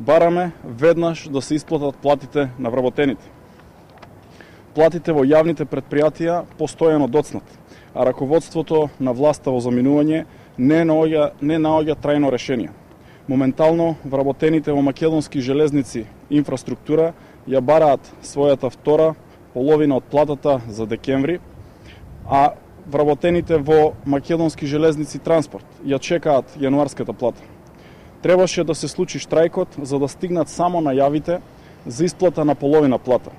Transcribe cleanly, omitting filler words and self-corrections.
Бараме веднаш да се исплатат платите на вработените. Платите во јавните претпријатија постојано доцнат, а раководството на власта во заминување не наоѓа трајно решение. Моментално вработените во македонски железници инфраструктура ја бараат својата втора половина од платата за декември, а вработените во македонски железници транспорт ја чекаат јануарската плата. Требаше да се случи штрајкот за да стигнат само најавите за исплата на половина плата.